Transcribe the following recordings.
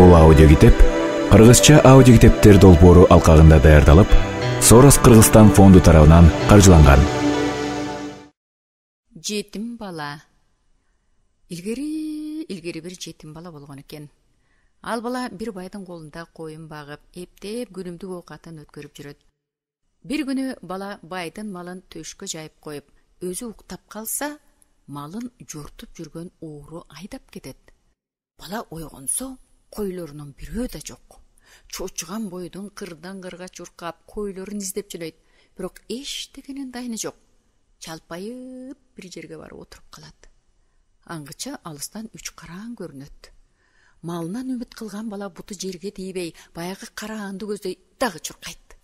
Бул аудиокитеп кыргызча аудиокитептер долбоору алкагында даярдалып, Сорос Кыргызстан фонду тарабынан каржыланган. Жетим бала. Илгери бир жетим бала болгон экен. Ал бала бир байдын колунда коюн багып, эптеп күнүмдүк оокатын өткөрүп жүрөт. Бир күнү бала байдын малын төшкө жайып коюп, өзү уктап калса, малын жортуп жүргөн ууру айдап кетет. Бала ойгонсо, койлорунун бирөө да жок. Чочуган бойдон кырдан кырга чуркап, койлорун издеп жүрөйт, бирок эчтегенин дайыны жок. Чалпайып бир жерге барып отуруп калат. Аңгыча алыстан үч караан көрүнөт. Малынан үмүт кылган бала буту жерге тийбей, баягы караанды көздөй дагы чуркайт.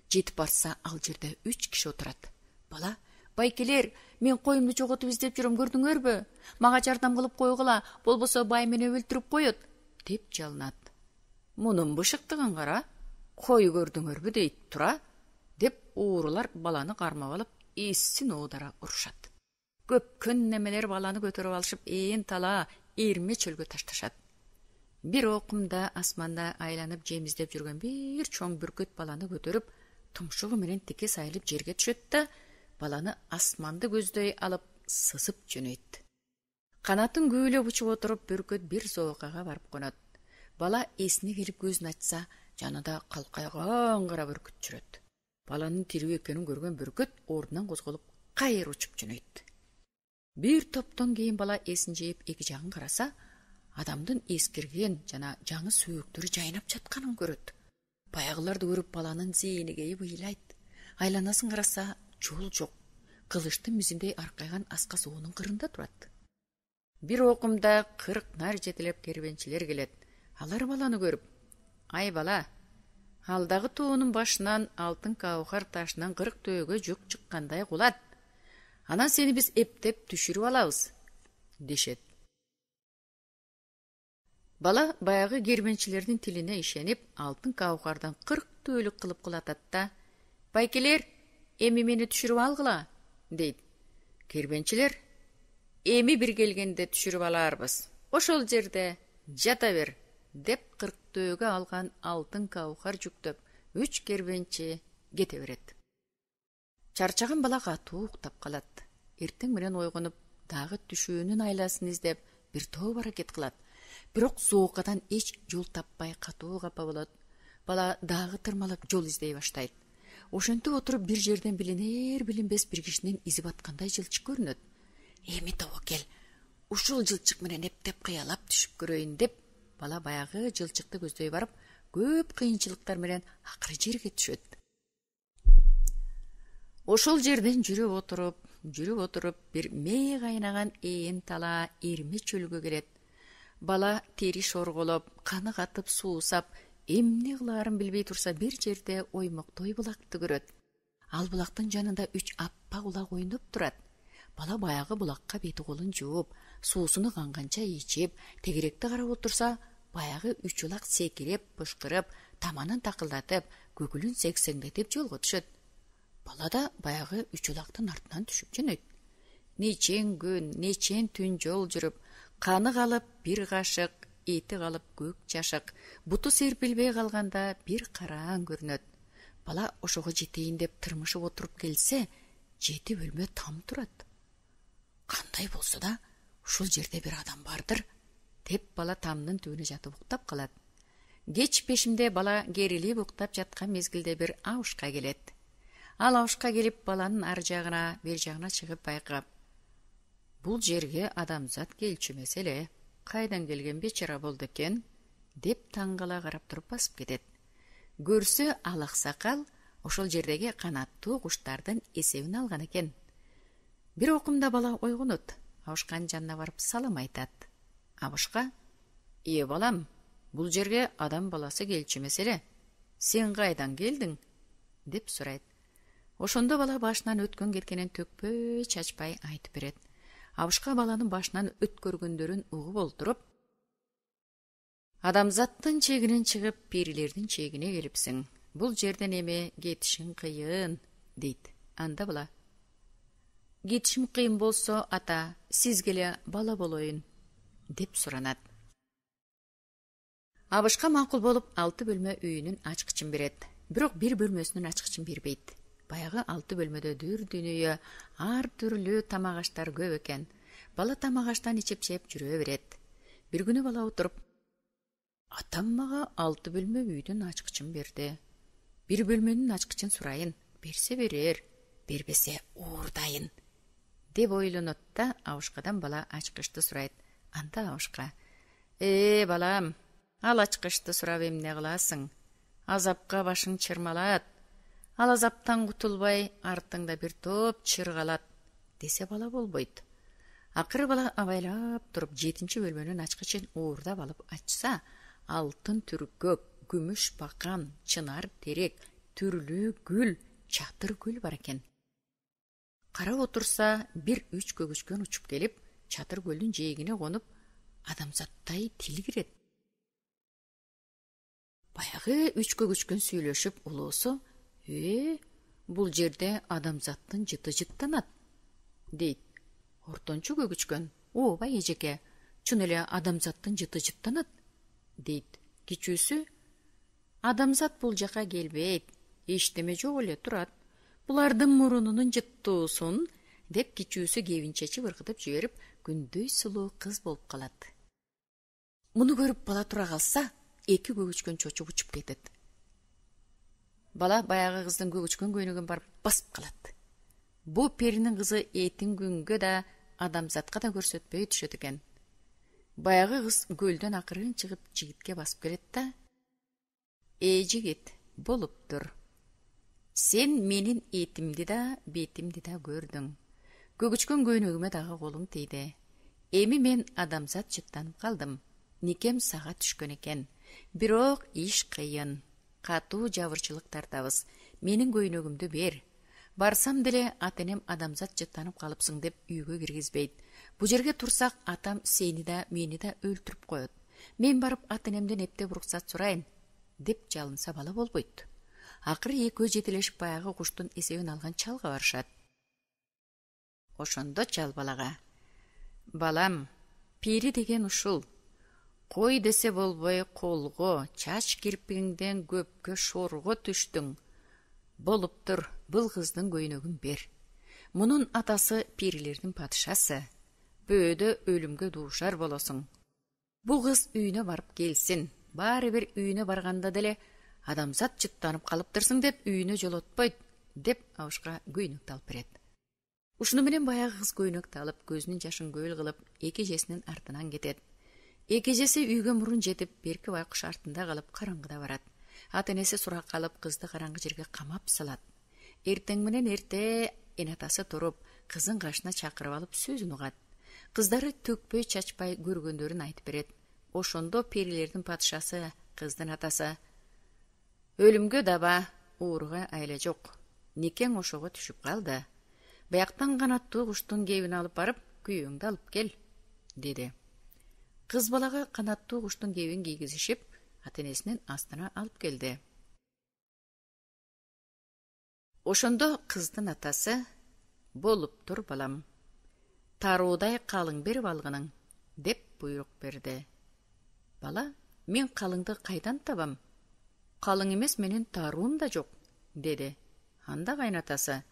Жетип барса, ал жерде 3 киши отурат. Бала: "Байкелер, мен коюмду жоготуп издеп жүрөм, көрдүңөрбү? Мага жардам кылып койгула, болбосо бай мени өлтүрүп коет" деп жалынат. "Мунун бышыктыгын кара, кой көрдүңөрбү дейт тура" деп уурулар баланы кармап алып, эссин оодара урушат. Көпкөн немелер баланы көтөрүп алышып, тала эрме чөлгө ташташат. Бир окумда асманда айланып жем издеп жүргөн бир чоң бүркөт баланы көтөрүп, тумшугу менен текес айылып жерге түшөт да, баланы асманды көздөй алып сызып жөнөйт. Канатын күүлөп учуп отуруп, бүркөт бир зоокага барып конот. Бала эсине келип көзүн ачса, жанында калкайган кара бүркүт жүрөт. Баланын тирүү экенин көргөн бүркөт ордунан козголуп, кайыр учуп жөнөйт. Бир топтон кийин бала эсин жыйып эки жагын караса, адамдын эскирген жана жаңы сөөктөрү жайнап жатканын көрөт. Баягыларды көрүп баланын зээни кейип ыйлайт. Айланасын караса, жол жок. Кылычтын мизиндей аркайган аска соонун кырында турат. Бир окумда 40 нар жетелеп кербенчилер келет. Алар баланы көрүп: "Ай бала, алдагы тоонун башынан алтын каухар ташынан 40 төөгө жүк чыккандай кулат. Анан сени биз эптеп түшүрүп алабыз" дешет. Бала баягы кербенчилердин тилине ишенип, алтын каухардан 40 төөлүк кылып кулатат да: "Байкелер, эми мени түшүрүп алгыла" дейт. Кербенчилер: "Эми бир келгенде түшүрүп аларбыз. Ошол жерде жата бер" деп 40 төөгө алган алтын каухар жүктөп, 3 кербенчи кете берет. Чарчаган бала катуу уктап калат. Эртең менен ойгонуп, дагы түшүүнүн айласын издеп, бир топ аракет кылат. Бирок зоокадан эч жол таппай катуу капа болот. Бала дагы тырмалап жол издей баштайт. Ошентип отуруп, бир жерден билинер билинбес бир кишинин изи баткандай жылчык көрүнөт. "Эми тобокел, ушул жылчык менен эптеп кыялап түшүп көрөйүн" деп, бала баягы жылчыкты көздөй барып, көп кыйынчылыктар менен акыры жерге түшөт. Ошол жерден жүрүп отуруп, бир мээ кайнаган тала эрме чөлгө келет. Бала тери шорголоп, каны катып суусап, эмне кылаарын билбей турса, бир жерде оймоктой булакты көрөт. Ал булактын жанында 3 аппак улак ойноп турат. Бала баягы булакка бети колун жууп, суусуну канганча ичип, тегеректи карап отурса, баягы 3 улак секирип, пышкырып, таманын такылдатып, көкүлүн сексеңдетип жолго түшөт. Бала да баягы 3 улактын артынан түшүп жөнөйт. Нечен күн, нечен түн жол жүрүп, каны калып бир кашык, эти калып көк жашык, буту серпилбей калганда бир караан көрүнөт. Бала ошого жетейин деп тырмышып отуруп келсе, 7 бөлмө там турат. Кандай болсо да, ушул жерде бир адам бардыр деп бала тамдын түбүнө жатып уктап калат. Кеч пешимде бала керилип уктап жаткан мезгилде бир абышка келет. Ал абышка келип, баланын ар жагына, бер жагына чыгып байкап: "Бул жерге адамзат келчү эмес эле. Кайдан келген бечара болду экен" деп таңгала карап туруп басып кетет. Көрсө, ал аксакал ошол жердеги канаттуу куштардын эсебин алган экен. Бир окумда бала ойгонот. Абышканын жанына барып салам айтат. Абышка: балам, бул жерге адам баласы келчү эмес эле. Сен кайдан келдиң" деп сурайт. Ошондо бала башынан өткөн кеткенин төкпөй чачпай айтып берет. Абышка баланын башынан өткөргөндөрүн угуп олтуруп: "Адамзаттын чегинен чыгып, перилердин чегине келипсиң. Бул жерден эми кетишиң кыйын" дейт. Анда бала: "Кетишим кыйын болсо, ата, сизге эле бала болоюн" деп суранат. Абышка макул болуп 6 бөлмө үйүнүн ачкычын берет. Бирок бир бөлмөсүнүн ачкычын бербейт. Баягы 6 бөлмөдө дүр-дүнүйө ар түрлүү тамак аштар көп экен. Бала тамак аштан ичеп жүрө берет. Бир күнү бала отуруп: "Атам мага 6 бөлмө үйдүн ачкычын берди. Бир бөлмөнүн ачкычын сурайын, берсе берер, бербесе уурдайын" деп ойлонот да абышкадан бала ачкычты сурайт. Анда абышка: балам, ал ачкычты сурап эмне кыласың? Азапка башың чырмалат. Ал азаптан кутулбай, артыңда бир топ чыр калат" десе бала болбойт. Акыры бала абайлап туруп 7 бөлмөнүн ачкычын уурдап алып ачса, алтын түркөк, күмүш бакан, чынар терек, түрлүү гүл, чатыр гүл бар экен. Карап отурса, бир 3 көгүчкөн учуп келип, чатыр гүлдүн жээгине конуп, адамзаттай тил кирет. Баягы 3 көгүчкөн сүйлөшүп улуусу: бул жерде адамзаттын жыты жыттанат" дейт. Ортончу көгүчкөн: "Ооба эжеке, чын эле адамзаттын жыты жыттанат" дейт. Кичүүсү: "Адамзат бул жака келбейт, эчтеме жок эле турат. Булардын мурунунун жыттуусун" деп кичүүсү кебинче чыбыркытып жиберип, күндөй сулуу кыз болуп калат. Муну көрүп бала тура калса, 2 көгүчкөн чочуп учуп кетет. Бала баягы кыздын көгүчкөн көйнөгүн барып басып калат. Бу перинин кызы этин күнгө да адамзатка да көрсөтпөй түшөт экен. Баягы кыз көлдөн акырын чыгып жигитке басып келет да: "Жигит, болуптур. Сен менин этимди да, бетимди да көрдүң. Көгүчкөн көйнөгүмө дагы колуң тийди. Эми мен адамзат жыттанып калдым. Никем сага түшкөн экен. Бирок иш кыйын. Катуу жабырчылык тартабыз. Менин көйнөгүмдү бер. Барсам деле ата-энем адамзат жыттанып калыпсың деп үйгө киргизбейт. Бу жерге турсак атам сени да мени да өлтүрүп коет. Мен барып ата-энемден эптеп уруксат сурайын" деп жалынса бала болбойт. Акыры экөө жетелешип баягы куштун эсебин алган чалга барышат. Ошондо чал балага: "Балам, пири деген ушул. Кой десе болбой колго, чач кирпигиңден көпкө шорго түштүң. Болуптур, бул кыздын көйнөгүн бер. Мунун атасы пирилердин падышасы. Бөөдө өлүмгө дуушар болосуң. Бул кыз үйүнө барып келсин. Баары бир үйүнө барганда деле адамзат жыттанып калыптырсың деп үйүнө жолотпойт" деп абышка көйнөктү алып берет. Ушуну менен баягы кыз көйнөктү алып, көзүнүн жашын көл кылып, экежесинин артынан кетет. Экежеси үйгө мурун жетип, берки байкуш артында калып караңгыда барат. Ата-энеси сурак калып, кызды караңгы жерге камап салат. Эртең менен эрте эн атасы туруп, кызын кашына чакырып алып сөзүн угат. Кыздары төкпөй чачпай көргөндөрүн айтып берет. Ошондо перилердин падышасы, кыздын атасы: "Өлүмгө даба, ууруга айла жок. Никең ошого түшүп калды. Бияктан канаттуу куштун кебин алып барып, күйөөңдү алып кел" деди. Кыз балага канаттуу куштун кебин кийгизишип, ата-энесинин астына алып келди. Ошондо кыздын атасы: "Болуптур балам. Таруудай калың берип алгының" деп буйрук берди. Бала: "Мен калыңды кайдан табам? Калың эмес, менин таруум да жок" деди. Анда кайнатасы: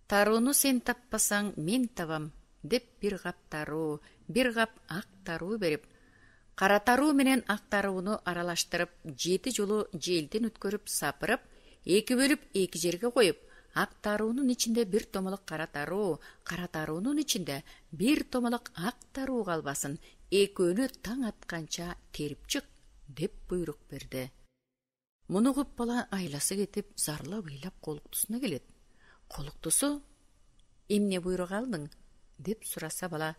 "Тарууну сен таппасаң, мен табам" деп бир кап таруу, бир кап ак таруу берип, кара таруу менен ак тарууну аралаштырып, 7 жолу желден өткөрүп сапырып, 2 бөлүп 2 жерге коюп, ак таруунун ичинде бир томолок кара таруунун ичинде бир томолок ак таруу калбасын, экөөнү таң атканча терип чык деп буйрук берди. Муну угуп бала айласы кетип, зарлап ыйлап колуктусуна келет. Колуктусу: "Эмне буйрук алдың?" деп сураса бала: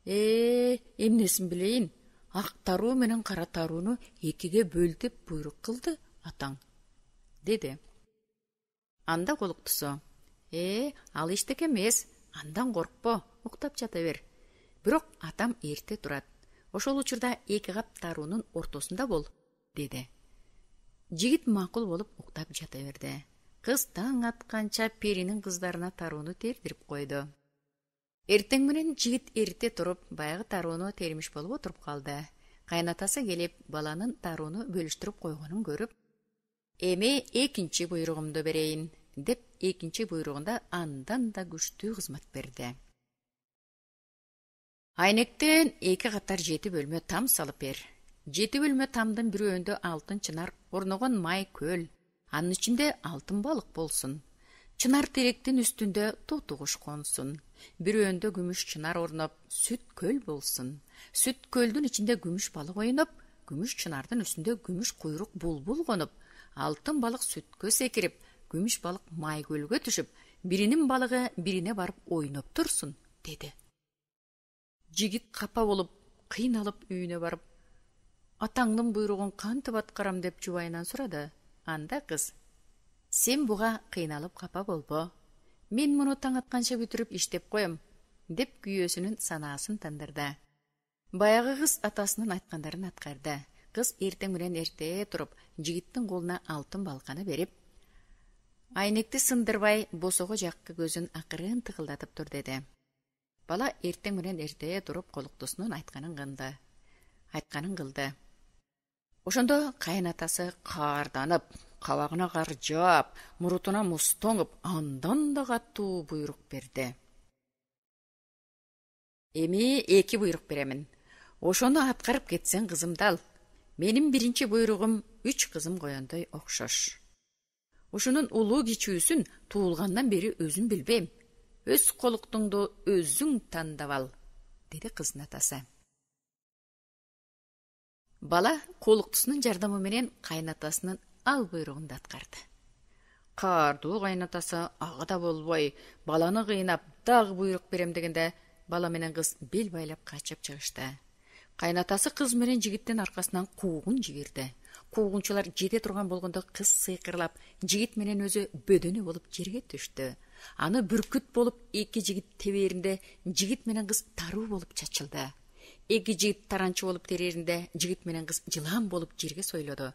Эмнесин билейин, ак таруу менен кара тарууну 2ге бөл деп буйрук кылды атаң" деди. Анда колуктусу: "Ал эчтеке эмес, андан коркпо, уктап жата бер. Бирок атам эрте турат. Ошол учурда 2 кап таруунун ортосунда бол" деди. Жигит макул болуп уктап жата берди. Кыз таң атканча перинин кыздарына тарууну тердирип койду. Эртең менен жигит эрте туруп, баягы тарууну термиш болуп отуруп калды. Кайнатасы келип баланын дарууну бөлүштүрүп койгонун көрүп, эми экинчи буйругумду берейин деп экинчи буйругунда андан да күчтүү кызмат берди. Айнектен 2 катар 7 бөлмө там салып бер. 7 бөлмө тамдын бирөөндө алтын чынар орногон май көл, анын ичинде алтын балык болсун. Чынар теректин үстүндө тоту куш консун. Бирөөндө күмүш чынар орноп, сүт көл болсун. Сүт көлдүн ичинде күмүш балык ойноп, күмүш чынардын үстүндө күмүш куйрук булбул конуп, алтын балык сүткө секирип, күмүш балык май көлгө түшүп, биринин балыгы бирине барып ойноп турсун, деди. Жигит капа болуп, кыйналып үйүнө барып, атаңдын буйругун кантип аткарам деп жубайынан сурады. Анда кыз: "Сен буга кыйналып капа болбо. Мен муну таң атканча бүтүрүп иштеп коем", деп күйөөсүнүн санаасын тандырды. Баягы кыз атасынын айткандарын аткарды. Кыз эртең менен эрте туруп, жигиттин колуна алтын балканы берип, "Айнекти сындырбай, босого жакка көзүн акырын тыгылдатып тур", деди. Бала эртең менен эрте туруп, колуктусунун айтканын кылды. Ошондо кайнатасы каарданып, кабагына кар жаап, мурутуна муз тоңуп, андан да катуу буйрук берди. "Эми 2 буйрук беремин. Ошону аткарып кетсең кызымды ал. Менин биринчи буйругум 3 кызым коёндой окшош. Ушунун улуу кичүүсүн туулгандан бери өзүм билбейм. Өз колуктуңду өзүң тандап ал", деди кыздын атасы. Бала колуктусунун жардамы менен кайнатасынын ал буйругунду аткарды. Каардуу кайнатасы ага да болбой, баланы кыйнап, дагы буйрук берем дегенде, бала менен кыз бел байлап качып чыгышты. Кайнатасы кыз менен жигиттин аркасынан куугун жиберди. Куугунчулар жете турган болгондо кыз сыйкырлап, жигит менен өзү бөдөнө болуп жерге түштү. Аны бүркүт болуп 2 жигит теберинде, жигит менен кыз таруу болуп чачылды. 2 жигит таранчы болуп тереринде, жигит менен кыз жылан болуп жерге сойлоду.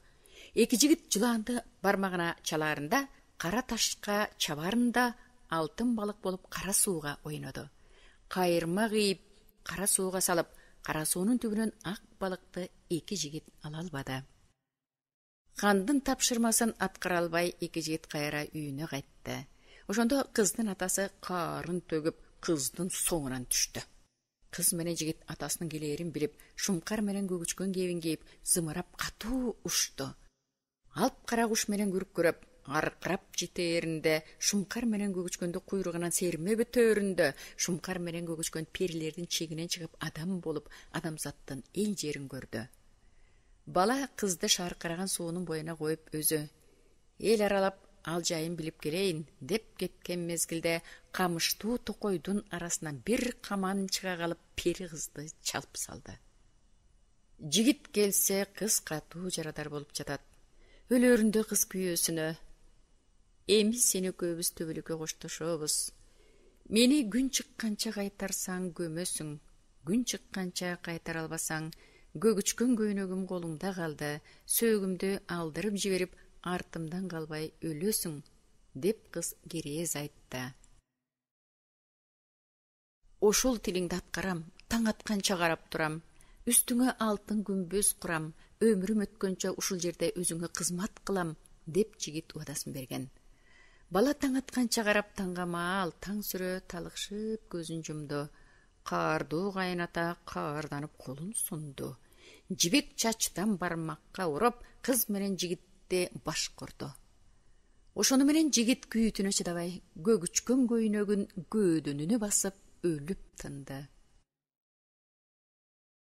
2 жигит жыланды бармагына чалаарында, кара ташка чабаарында, алтын балык болуп кара сууга ойноду. Кайырма кыйып, кара сууга салып, кара суунун түбүнөн ак балыкты 2 жигит ала албады. Хандын тапшырмасын аткара албай 2 жигит кайра үйүнө кайтты. Ошондо кыздын атасы каарын төгүп, кыздын соңунан түштү. Кыз менен жигит атасынын келээрин билип, шумкар менен көгүчкөн кебин кийип, зымырап катуу ушту. Алп кара куш менен күркүрөп, аркырап жетээринде, шумкар менен көгүчкөндү куйругунан серме бүтөөрүндө, шумкар менен көгүчкөн перилердин чегинен чыгып адам болуп, адамзаттын эл жерин көрдү. Бала кызды шаркыраган суунун боюна коюп өзү: "Эл аралап, ал жайын билип келейин" деп кеткен мезгилде, камыштуу токойдун арасынан бир каман чыга калып, пери кызды чалып салды. Жигит келсе, кыз катуу жарадар болуп жатат. Өлөрүндө кыз күйөөсүнө: "Эми сени экөөбүз төбөлүккө коштошобуз. Мени күн чыкканча кайтарсаң көмөсүң, күн чыкканча кайтара албасаң, көгүчкөн көйнөгүм колуңда калды, сөөгүмдү алдырып жиберип, артымдан калбай өлөсүң", деп кыз керез айтты. "Ошол тилиңди аткарам, таң атканча карап турам, үстүңө алтын күмбөз курам, өмүрүм өткөнчө ушул жерде өзүңө кызмат кылам", деп жигит убадасын берген. Бала таң атканча карап таңгамаал, таң сүрө талыкшып көзүн жумду. Каардуу кайната каарданып колун сунду. Жибек чачтан бармакка уруп, кыз менен жигитти башкырды. Ошону менен жигит күйүүтүнө чыдабай, көгүчкөн көйнөгүн көөдөнүнө басып өлүп тынды.